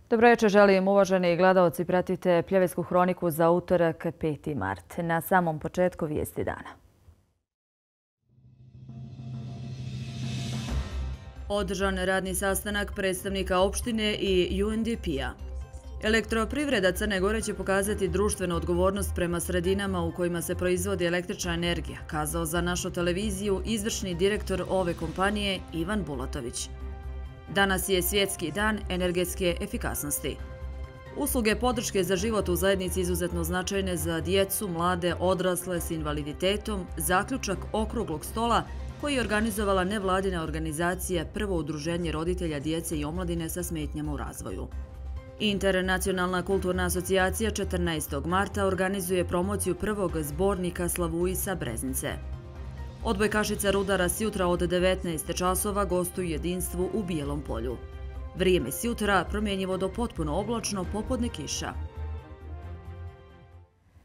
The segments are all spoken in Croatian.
Dobro večer, želim uvaženi gledaoci, pratite Pljevetsku hroniku za utorak 5. mart. Na samom početku vijesti dana. Održan radni sastanak predstavnika opštine i UNDP-a. Elektroprivreda Crne Gore će pokazati društvenu odgovornost prema sredinama u kojima se proizvodi električna energija, kazao za našu televiziju izvršni direktor ove kompanije Ivan Bulatović. Danas je Svjetski dan energetske efikasnosti. Usluge podrške za život u zajednici izuzetno značajne za djecu, mlade, odrasle s invaliditetom, zaključak okruglog stola koji je organizovala nevladina organizacija Prvo udruženje roditelja djece i omladine sa smetnjama u razvoju. Internacionalna kulturna asocijacija 14. marta organizuje promociju prvog zbornika Slavuisa Breznice. Odbojkašica Rudara sjutra od 19 časova gostuju jedinstvu u Bijelom polju. Vrijeme sjutra promjenjivo do potpuno oblačno, popodne kiša.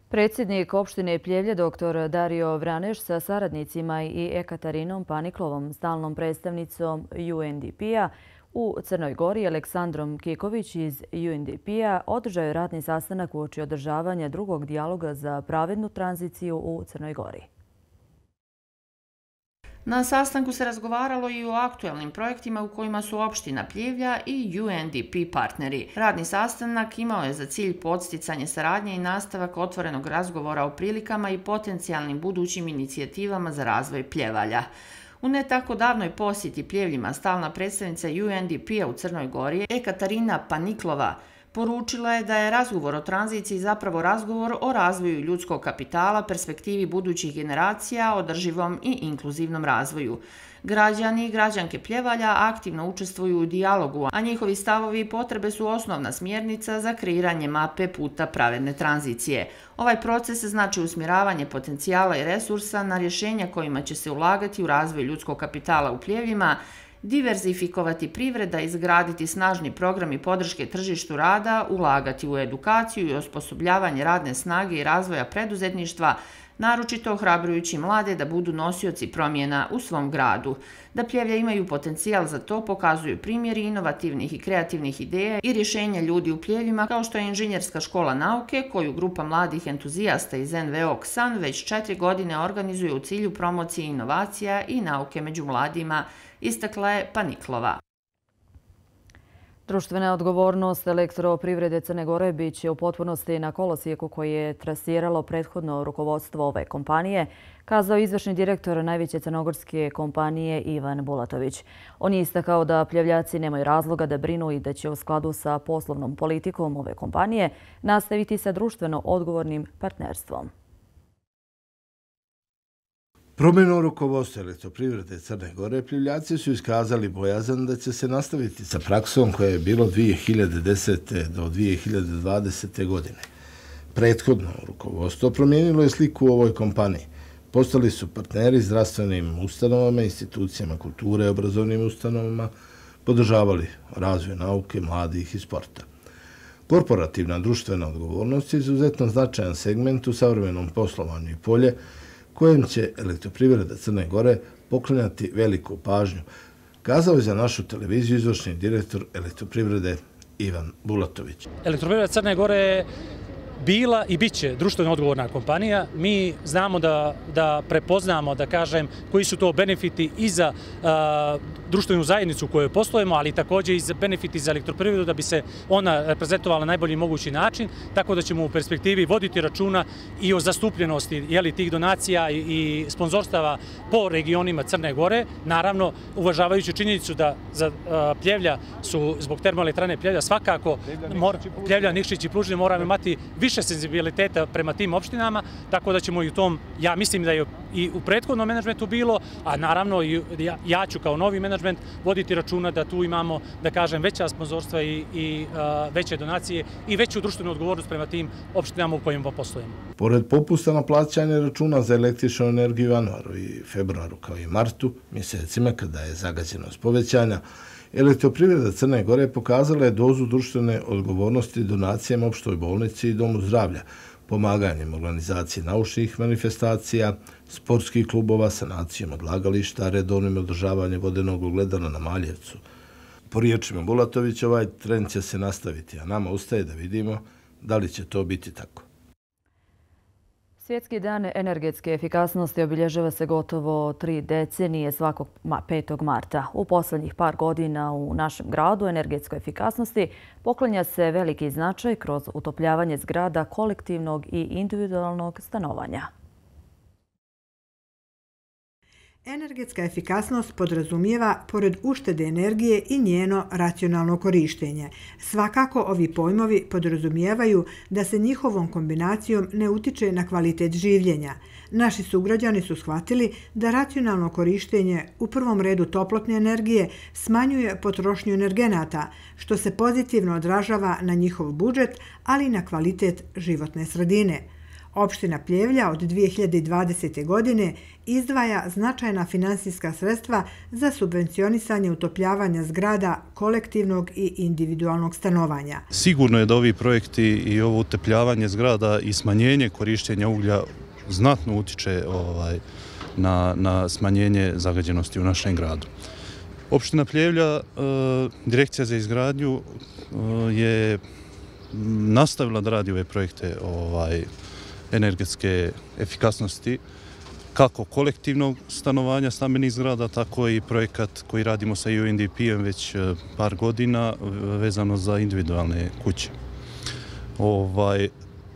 Predsjednik opštine Pljevlje dr. Dario Vraneš sa saradnicima i Ekatarinom Paniklovom, stalnom predstavnicom UNDP-a u Crnoj Gori, Aleksandrom Kiković iz UNDP-a održao je radni sastanak uoči održavanja drugog dijaloga za pravednu tranziciju u Crnoj Gori. Na sastanku se razgovaralo i o aktuelnim projektima u kojima su opština Pljevlja i UNDP partneri. Radni sastanak imao je za cilj podsticanje saradnje i nastavak otvorenog razgovora o prilikama i potencijalnim budućim inicijativama za razvoj Pljevalja. U ne tako davnoj posjeti Pljevljima stalna predstavnica UNDP-a u Crnoj Gori, Ekatarina Paniklova, poručila je da je razgovor o tranziciji zapravo razgovor o razvoju ljudskog kapitala, perspektivi budućih generacija, održivom i inkluzivnom razvoju. Građani i građanke Pljevalja aktivno učestvuju u dijalogu, a njihovi stavovi i potrebe su osnovna smjernica za kreiranje mape puta pravedne tranzicije. Ovaj proces znači usmjeravanje potencijala i resursa na rješenja kojima će se ulagati u razvoj ljudskog kapitala u Pljevljima, diverzifikovati privreda, izgraditi snažni programi podrške tržištu rada, ulagati u edukaciju i osposobljavanje radne snage i razvoja preduzetništva, naročito ohrabrujući mlade da budu nosioci promjena u svom gradu. Da Pljevlja imaju potencijal za to pokazuju primjeri inovativnih i kreativnih ideja i rješenja ljudi u Pljevljima, kao što je Inženjerska škola nauke, koju grupa mladih entuzijasta iz NVO KSAN već 4 godine organizuje u cilju promocije inovacija i nauke među mladima, istakla je Paniklova. Društvena odgovornost elektroprivrede Crne Gore biće u potpunosti na kolosijeku koji je trasiralo prethodno rukovodstvo ove kompanije, kazao izvršni direktor najveće crnogorske kompanije Ivan Bulatović. On je istakao da Pljevljaci nemaju razloga da brinu i da će u skladu sa poslovnom politikom ove kompanije nastaviti sa društveno odgovornim partnerstvom. Promjenom rukovodstva elektroprivrede Crne Gore, Pljevljaci su iskazali bojazan da će se nastaviti sa praksom koja je bilo 2010. do 2020. godine. Prethodno rukovodstvo promijenilo je sliku u ovoj kompaniji. Postali su partneri zdravstvenim ustanovama, institucijama kulture, obrazovnim ustanovama, podržavali razvoj nauke, mladih i sporta. Korporativna društvena odgovornost je izuzetno značajan segment u savremenom poslovanju i polje kojem će elektroprivreda Crne Gore poklanjati veliku pažnju, kazao je za našu televiziju izvršni direktor elektroprivrede Ivan Bulatović. Elektroprivreda Crne Gore je bila i bit će društveno odgovorna kompanija. Mi znamo da prepoznamo, da kažem, koji su to benefiti i za društvenu zajednicu u kojoj poslujemo, ali također i za benefiti za elektroprivredu da bi se ona reprezentovala na najbolji mogući način, tako da ćemo u perspektivi voditi računa i o zastupljenosti tih donacija i sponzorstava po regionima Crne Gore, naravno uvažavajući činjenicu da za Pljevlja su zbog termoelektrane Pljevlja svakako Pljevlja, Nikšić i Plužine moramo imati više senzibiliteta prema tim opštinama, tako da ćemo i u tom, ja mislim da je i u prethodnom menadžmentu bilo, a naravno i ja ću kao novi menadžment voditi računa da tu imamo, da kažem, veća sponzorstva i veće donacije i veću društvenu odgovornost prema tim opštinama u kojima poslujemo. Pored popusta na plaćanje računa za električnu energiju u januaru i februaru kao i martu, mjesecima kada je zagađenost povećanja, elektroprivreda Crne Gore pokazala je dozu društvene odgovornosti donacijama opštoj bolnici i domu zdravlja, pomaganjem organizacije naučnih manifestacija, sportskih klubova, sanacijom odlagališta, redovnim održavanjem vodenog ogledala na Maljevcu. Po riječima Bulatovića, ovaj trend će se nastaviti, a nama ustaje da vidimo da li će to biti tako. Svjetski dan energetske efikasnosti obilježava se gotovo 3 decenije svakog 5. marta. U posljednjih par godina u našem gradu energetskoj efikasnosti poklanja se veliki značaj kroz utopljavanje zgrada kolektivnog i individualnog stanovanja. Energetska efikasnost podrazumijeva, pored uštede energije, i njeno racionalno korištenje. Svakako ovi pojmovi podrazumijevaju da se njihovom kombinacijom ne utiče na kvalitet življenja. Naši sugrađani su shvatili da racionalno korištenje, u prvom redu toplotne energije, smanjuje potrošnju energenata, što se pozitivno odražava na njihov budžet, ali i na kvalitet životne sredine. Opština Pljevlja od 2020. godine izdvaja značajna finansijska sredstva za subvencionisanje utopljavanja zgrada kolektivnog i individualnog stanovanja. Sigurno je da ovi projekti i ovo utopljavanje zgrada i smanjenje korištenja uglja znatno utiče na smanjenje zagađenosti u našem gradu. Opština Pljevlja, Direkcija za izgradnju je nastavila da radi ove projekte energetske efikasnosti, kako kolektivnog stanovanja stambenih zgrada, tako i projekat koji radimo sa UNDP-em već par godina vezano za individualne kuće.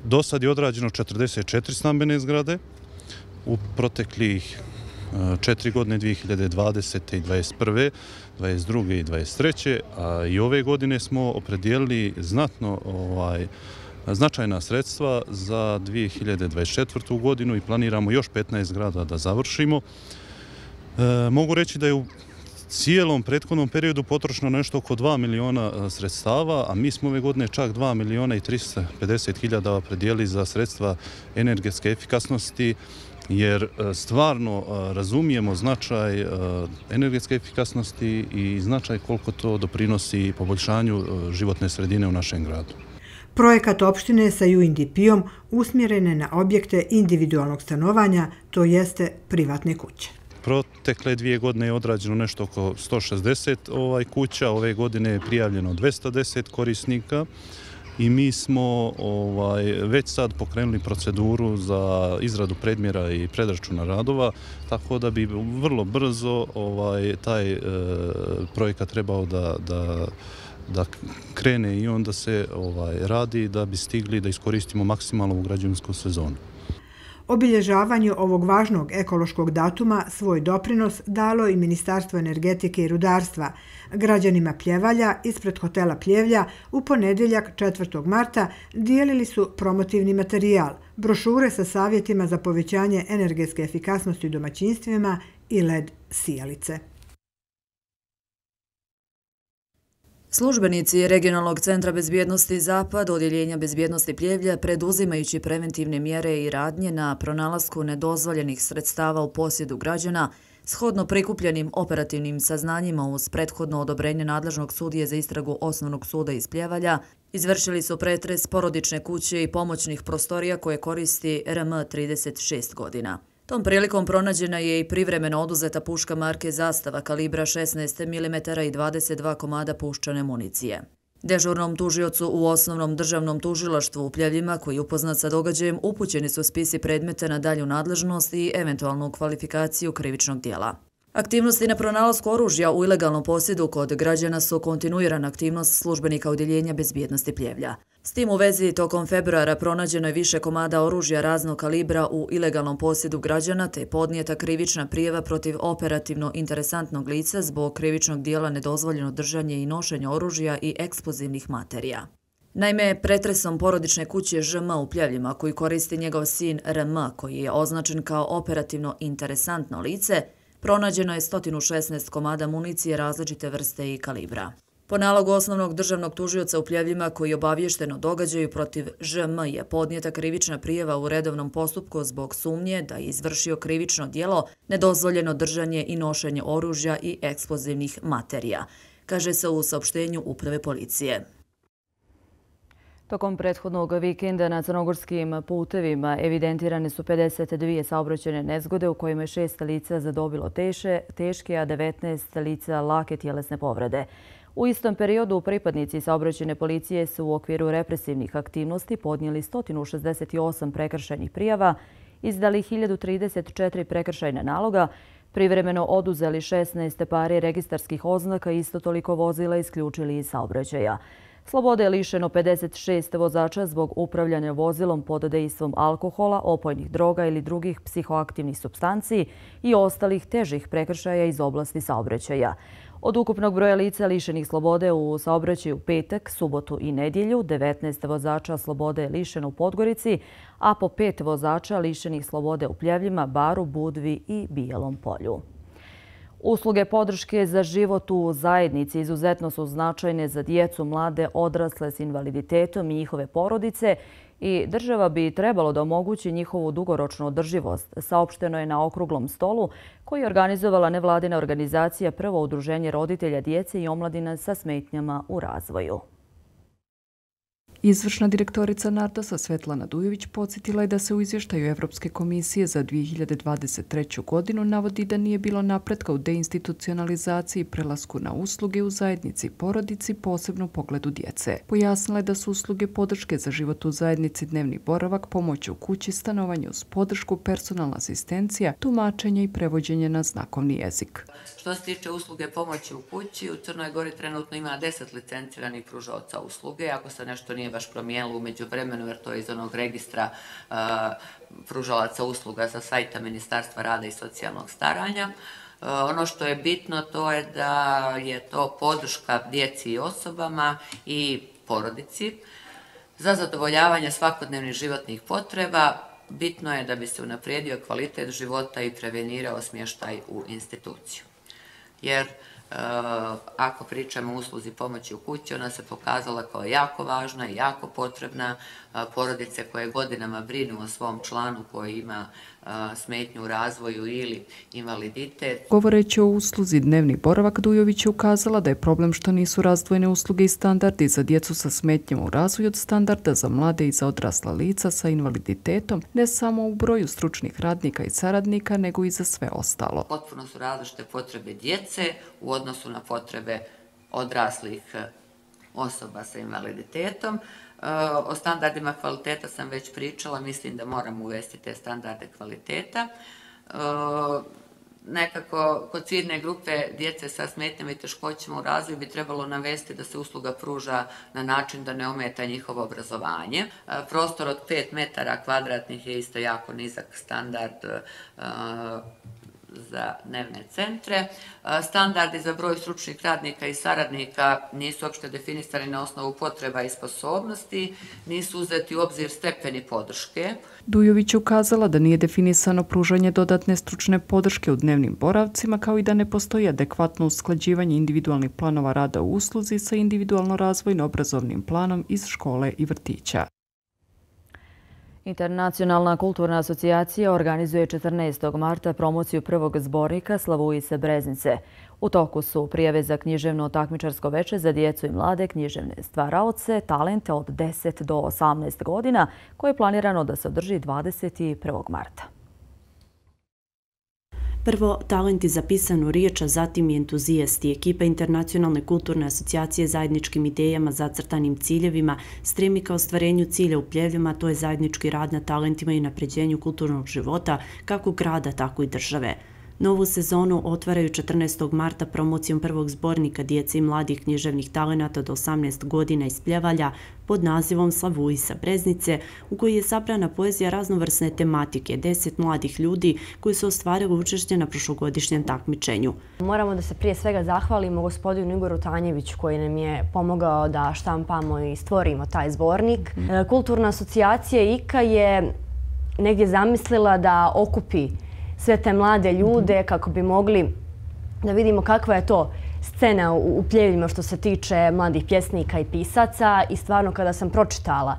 Do sad je odrađeno 44 stambene zgrade u proteklih 4 godine, 2020. i 2021., 2022. i 2023. A i ove godine smo opredijelili značajna sredstva za 2024. godinu i planiramo još 15 zgrada da završimo. Mogu reći da je u cijelom prethodnom periodu potrošeno nešto oko 2 miliona sredstava, a mi smo ove godine čak 2 miliona i 350 hiljada opredijelili za sredstva energetske efikasnosti, jer stvarno razumijemo značaj energetske efikasnosti i značaj koliko to doprinosi poboljšanju životne sredine u našem gradu. Projekat opštine sa UNDP-om usmjeren je na objekte individualnog stanovanja, to jeste privatne kuće. Protekle 2 godine je odrađeno nešto oko 160 kuća, ove godine je prijavljeno 210 korisnika i mi smo već sad pokrenuli proceduru za izradu predmjera i predračuna radova, tako da bi vrlo brzo taj projekat trebao da krene i onda se radi da bi stigli da iskoristimo maksimalno u građevinsku sezonu. Obilježavanju ovog važnog ekološkog datuma svoj doprinos dalo i Ministarstvo energetike i rudarstva. Građanima Pljevalja ispred hotela Pljevlja u ponedjeljak 4. marta dijelili su promotivni materijal, brošure sa savjetima za povećanje energetske efikasnosti u domaćinstvima i LED sijalice. Službenici Regionalnog centra bezbjednosti Zapad, Odjeljenja bezbjednosti Pljevlja, preduzimajući preventivne mjere i radnje na pronalasku nedozvoljenih sredstava u posjedu građana, shodno prikupljenim operativnim saznanjima uz prethodno odobrenje nadležnog sudije za istragu Osnovnog suda iz Pljevalja, izvršili su pretres porodične kuće i pomoćnih prostorija koje koristi RM 36 godina. Tom prilikom pronađena je i privremeno oduzeta puška marke Zastava kalibra 16 mm i 22 komada puščane municije. Dežurnom tužiocu u Osnovnom državnom tužilaštvu u Pljevljima, koji je upoznat sa događajem, upućeni su spisi predmeta na dalju nadležnost i eventualnu kvalifikaciju krivičnog dijela. Aktivnosti na pronalasku oružja u ilegalnom posjedu kod građana su kontinuirana aktivnost službenika Odjeljenja bezbjednosti Pljevlja. S tim u vezi, tokom februara pronađeno je više komada oružja raznog kalibra u ilegalnom posjedu građana, te podnijeta krivična prijava protiv operativno interesantnog lica zbog krivičnog dijela nedozvoljeno držanje i nošenje oružja i eksplozivnih materija. Naime, pretresom porodične kuće ŽM u Pljevljima, koju koristi njegov sin RM, koji je označen kao operativno interesantno lice, pronađeno je 116 komada municije različite vrste i kalibra. Po nalogu Osnovnog državnog tužioca u Pljevljima, koji je obaviješten o događaju protiv ŽM, je podnijeta krivična prijava u redovnom postupku zbog sumnje da je izvršio krivično djelo nedozvoljeno držanje i nošenje oružja i eksplozivnih materija, kaže se u saopštenju Uprave policije. Tokom prethodnog vikenda na crnogorskim putevima evidentirane su 52 saobraćajne nezgode u kojima je 6 lica zadobilo teške, a 19 lica lake tjelesne povrede. U istom periodu pripadnici saobraćajne policije su u okviru represivnih aktivnosti podnijeli 168 prekršajnih prijava, izdali 1034 prekršajna naloga, privremeno oduzeli 16 pari registarskih oznaka i isto toliko vozila isključili iz saobraćaja. Slobode je lišeno 56 vozača zbog upravljanja vozilom pod dejstvom alkohola, opojnih droga ili drugih psihoaktivnih supstanci i ostalih težih prekršaja iz oblasti saobraćaja. Od ukupnog broja lica lišenih slobode u saobraćaju petak, subotu i nedjelju, 19 vozača slobode je lišeno u Podgorici, a po 5 vozača lišenih slobode u Pljevljima, Baru, Budvi i Bijelom Polju. Usluge podrške za život u zajednici izuzetno su značajne za djecu, mlade, odrasle s invaliditetom i njihove porodice i država bi trebalo da omogući njihovu dugoročnu održivost, saopšteno je na okruglom stolu koji je organizovala nevladina organizacija Prvo udruženje roditelja djece i omladina sa smetnjama u razvoju. Izvršna direktorica Nardosa Svetlana Dujović podsjetila je da se u izvještaju Evropske komisije za 2023. godinu navodi da nije bilo napretka u deinstitucionalizaciji i prelasku na usluge u zajednici i porodici, posebno u pogledu djece. Pojasnila je da su usluge podrške za život u zajednici, dnevni boravak, pomoć u kući, stanovanje uz podršku, personalna asistencija, tumačenje i prevođenje na znakovni jezik. Što se tiče usluge pomoći u kući, u Crnoj Gori trenutno ima 10 licenciranih pružaoca usluge. Ako se nešto nije baš promijenilo umeđu vremenu, jer to je iz onog registra pružalaca usluga sa sajta Ministarstva rada i socijalnog staranja. Ono što je bitno to je da je to podrška djeci i osobama i porodici za zadovoljavanje svakodnevnih životnih potreba. Bitno je da bi se unaprijedio kvalitet života i prevenirao smještaj u instituciju. Jer ako pričamo o usluzi pomoći u kući, ona se pokazala kao jako važna i jako potrebna. Porodice koje godinama brinu o svom članu koji ima smetnju u razvoju ili invaliditet. Govoreći o usluzi dnevni boravak, Dujović je ukazala da je problem što nisu razdvojene usluge i standardi za djecu sa smetnjama u razvoju od standarda za mlade i za odrasla lica sa invaliditetom, ne samo u broju stručnih radnika i saradnika, nego i za sve ostalo. Potpuno su različite potrebe djece u odnosu na potrebe odraslih osoba sa invaliditetom. O standardima kvaliteta sam već pričala, mislim da moramo uvesti te standarde kvaliteta. Nekako kod ciljne grupe djece sa smetnjama i teškoćama u razvoju bi trebalo navesti da se usluga pruža na način da ne ometa njihovo obrazovanje. Prostor od 5 metara kvadratnih je isto jako nizak standard za dnevne centre. Standardi za broj stručnih radnika i saradnika nisu uopšte definisani na osnovu potreba i sposobnosti, nisu uzeti u obzir stepeni podrške. Dujović je ukazala da nije definisano pružanje dodatne stručne podrške u dnevnim boravcima, kao i da ne postoji adekvatno usklađivanje individualnih planova rada u usluzi sa individualno razvojno-obrazovnim planom iz škole i vrtića. Internacionalna kulturna asocijacija organizuje 14. marta promociju prvog zbornika Slavujisa Breznice. U toku su prijave za književno takmičarsko veče za djecu i mlade književne stvaraoce, talente od 10 do 18 godina, koje je planirano da se održi 21. marta. Prvo, talenti za pisanu riječ, a zatim i entuzijasti. Ekipa Internacionalne kulturne asocijacije zajedničkim idejama, zacrtanim ciljevima stremi ka ostvarenju cilja u Pljevljima, to je zajednički rad na talentima i napređenju kulturnog života, kako grada, tako i države. Novu sezonu otvaraju 14. marta promocijom prvog zbornika djece i mladih književnih talenata do 18 godina iz Pljevalja pod nazivom Slavujisa Breznice, u kojoj je sabrana poezija raznovrsne tematike 10 mladih ljudi koji su ostvarili učešće na prošlogodišnjem takmičenju. Moramo da se prije svega zahvalimo gospodinu Igoru Tanjeviću koji nam je pomogao da štampamo i stvorimo taj zbornik. Kulturna asocijacija IKA je negdje zamislila da okupi sve te mlade ljude kako bi mogli da vidimo kakva je to scena u Pljevljima što se tiče mladih pjesnika i pisaca i stvarno kada sam pročitala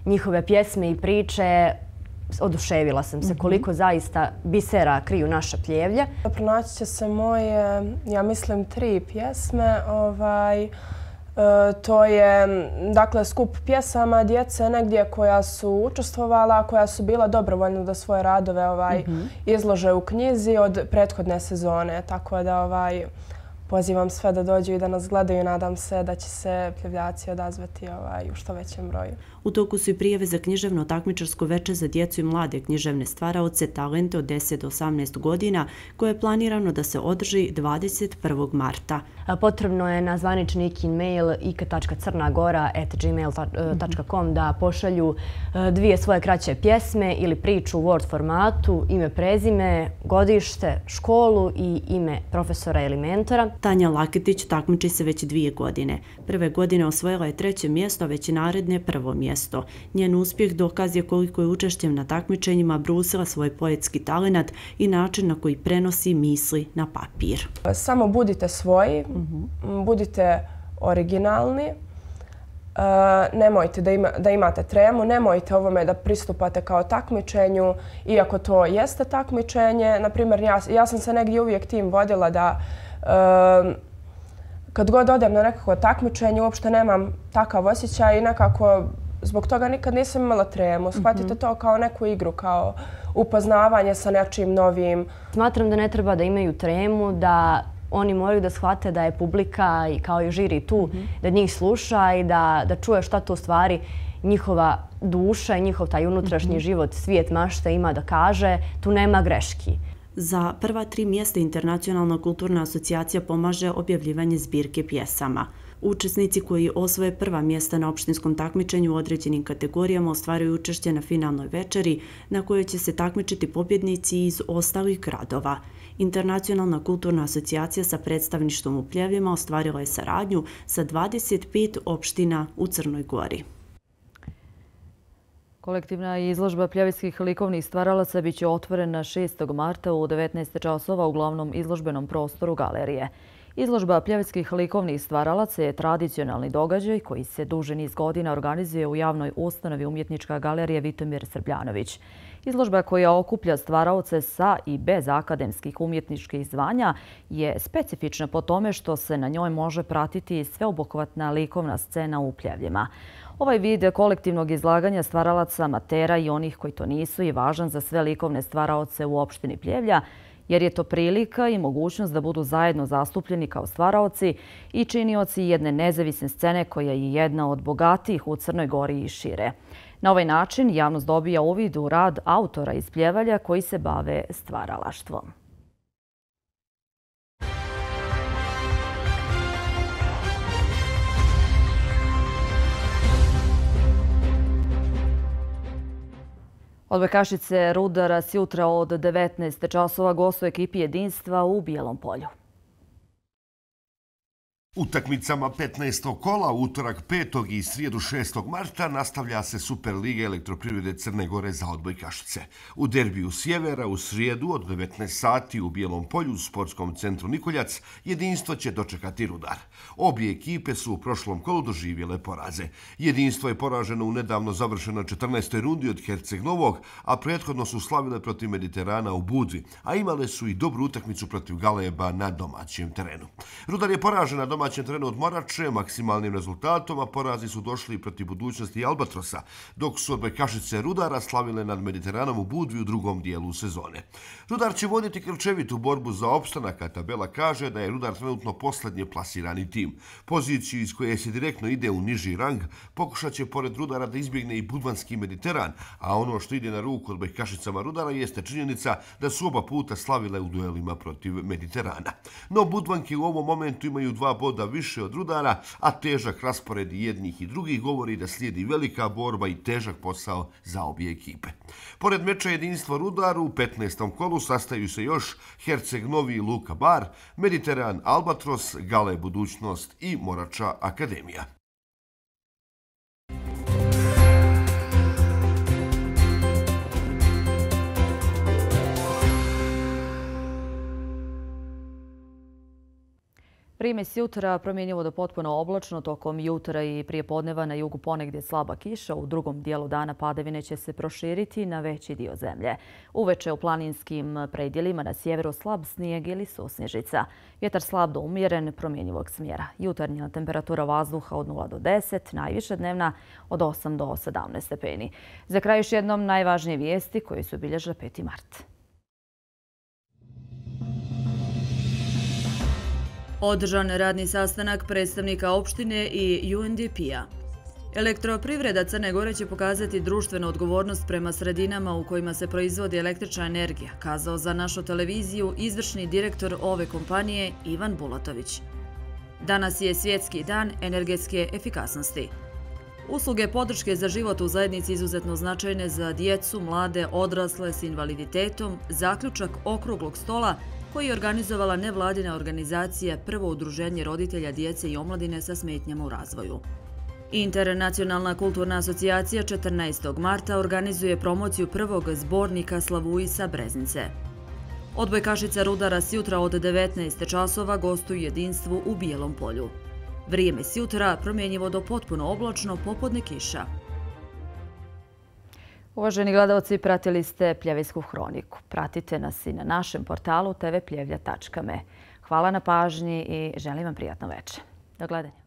njihove pjesme i priče oduševila sam se koliko zaista bisera kriju naša Pljevlja. Pronaći će se moje, ja mislim, 3 pjesme. To je dakle skup pjesama djece negdje koja su učestvovala, koja su bila dobrovoljno da svoje radove izlože u knjizi od prethodne sezone. Tako da pozivam sve da dođu i da nas gledaju. Nadam se da će se Pljevljaci odazvati u što većem broju. U toku su i prijave za književno takmičarsko veče za djecu i mlade književne stvaraoce talente od 10 do 18 godina, koje je planirano da se održi 21. marta. Potrebno je na zvanični IKIN mail ika.crnagora@gmail.com da pošalju dvije svoje kraće pjesme ili priču u Word formatu, ime, prezime, godište, školu i ime profesora ili mentora. Tanja Laketić takmiči se već 2 godine. Prve godine osvojila je 3. mjesto, a već i naredne 1. mjesto. Njen uspjeh dokaz je koliko je učešćem na takmičenjima brusila svoj poetski talenat i način na koji prenosi misli na papir. Samo budite svoji, budite originalni, nemojte da imate tremu, nemojte ovome da pristupate kao takmičenju, iako to jeste takmičenje. Naprimjer, ja sam se negdje uvijek tim vodila da kad god odem na nekako takmičenje uopšte nemam takav osjećaj i nekako zbog toga nikad nisam imala tremu. Shvatite to kao neku igru, kao upoznavanje sa nečim novim. Smatram da ne treba da imaju tremu, da oni moraju da shvate da je publika i kao i žiri tu, da njih sluša i da čuje šta to u stvari njihova duša i njihov taj unutrašnji život, svijet mašta ima da kaže. Tu nema greški. Za prva 3 mjesta Internacionalna kulturna asocijacija pomaže objavljivanje zbirke pjesama. Učesnici koji osvoje prva mjesta na opštinskom takmičenju u određenim kategorijama ostvaruju učešće na finalnoj večeri na kojoj će se takmičiti pobjednici iz ostalih gradova. Internacionalna kulturna asocijacija sa predstavništvom u Pljevljima ostvarila je saradnju sa 25 opština u Crnoj Gori. Kolektivna izložba pljevljskih likovnih stvaralaca biće otvorena 6. marta u 19 časova u glavnom izložbenom prostoru galerije. Izložba pljevljskih likovnih stvaralaca je tradicionalni događaj koji se duži niz godina organizuje u javnoj ustanovi Umjetnička galerija Vitomir Srbljanović. Izložba koja okuplja stvaraoce sa i bez akademskih umjetničkih zvanja je specifična po tome što se na njoj može pratiti sveobuhvatna likovna scena u Pljevljima. Ovaj vid kolektivnog izlaganja stvaralaca, amatera i onih koji to nisu je važan za sve likovne stvaraoce u opštini Pljevlja, jer je to prilika i mogućnost da budu zajedno zastupljeni kao stvaraoci i činioci jedne nezavisne scene koja je jedna od bogatijih u Crnoj Gori i šire. Na ovaj način javnost dobija uvid u rad autora iz Pljevalja koji se bave stvaralaštvom. Odbojkašice Rudara sjutra od 19 časova gostuje ekipi Jedinstva u Bijelom Polju. Utakmicama 15. kola, utorak 5. i srijedu 6. marta nastavlja se Superliga Elektroprivrede Crne Gore za odbojkašice. U derbiju Sjevera u srijedu od 19 sati u Bijelom Polju u sportskom centru Nikoljac Jedinstvo će dočekati Rudar. Obje ekipe su u prošlom kolu doživjele poraze. Jedinstvo je poraženo u nedavno završenoj 14. rundi od Herceg Novog, a prethodno su slavile protiv Mediterana u Budvi, a imale su i dobru utakmicu protiv Galeba na domaćem terenu. Rudar je poražen na domaćem terenu od Morače maksimalnim rezultatom, a porazi su došli protiv Budućnosti i Albatrosa, dok su odbojkašice Rudara slavile nad Mediteranom u Budvi u drugom dijelu sezone. Rudar će voditi krčevitu borbu za opstanak, a tabela kaže da je Rudar trenutno posljednje plasirani tim. Poziciju iz koje se direktno ide u niži rang pokušat će pored Rudara da izbjegne i Budvanski Mediteran, a ono što ide na ruku odbojkašicama Rudara jeste činjenica da su oba puta slavile u duelima protiv Mediterana. No Budvanke u ovom momentu imaju 2 boda više od Rudara, a težak raspored jednih i drugih govori da slijedi velika borba i težak posao za obje ekipe. Pored meča Jedinstvo Rudar u 15. kolu sastaju se još Herceg Novi i Luka Bar, Mediteran Albatros, Gale Budućnost i Morača Akademija. Primes jutra promjenjivo do potpuno oblačno, tokom jutra i prije podneva na jugu ponegdje slaba kiša, u drugom dijelu dana padavine će se proširiti na veći dio zemlje. Uveče u planinskim predjelima na sjeveru slab snijeg ili susnježica. Vjetar slab do umjeren, promjenjivog smjera. Jutarnja temperatura vazduha od 0 do 10, najviša dnevna od 8 do 17 stepeni. Za kraj još jednom najvažnije vijesti koji su obilježile 5. mart. Održan radni sastanak predstavnika opštine i UNDP-a. Elektroprivreda Crne Gore će pokazati društvenu odgovornost prema sredinama u kojima se proizvodi električna energija, kazao za našu televiziju izvršni direktor ove kompanije Ivan Bulatović. Danas je Svjetski dan energetske efikasnosti. Usluge podrške za život u zajednici izuzetno značajne za djecu, mlade, odrasle s invaliditetom, zaključak okruglog stola koji je organizovala nevladina organizacija Prvo udruženje roditelja djece i omladine sa smetnjama u razvoju. Internacionalna kulturna asocijacija 14. marta organizuje promociju prvog zbornika Slavuisa Breznice. Odbojkašica Rudara sjutra od 19 časova gostuju jedinstvu u Bijelom polju. Vrijeme sjutra promjenjivo do potpuno oblačno, popodne kiša. Uvaženi gledalci, pratili ste Pljevljsku hroniku. Pratite nas i na našem portalu tvpljevlja.me. Hvala na pažnji i želim vam prijatno večer. Do gledanja.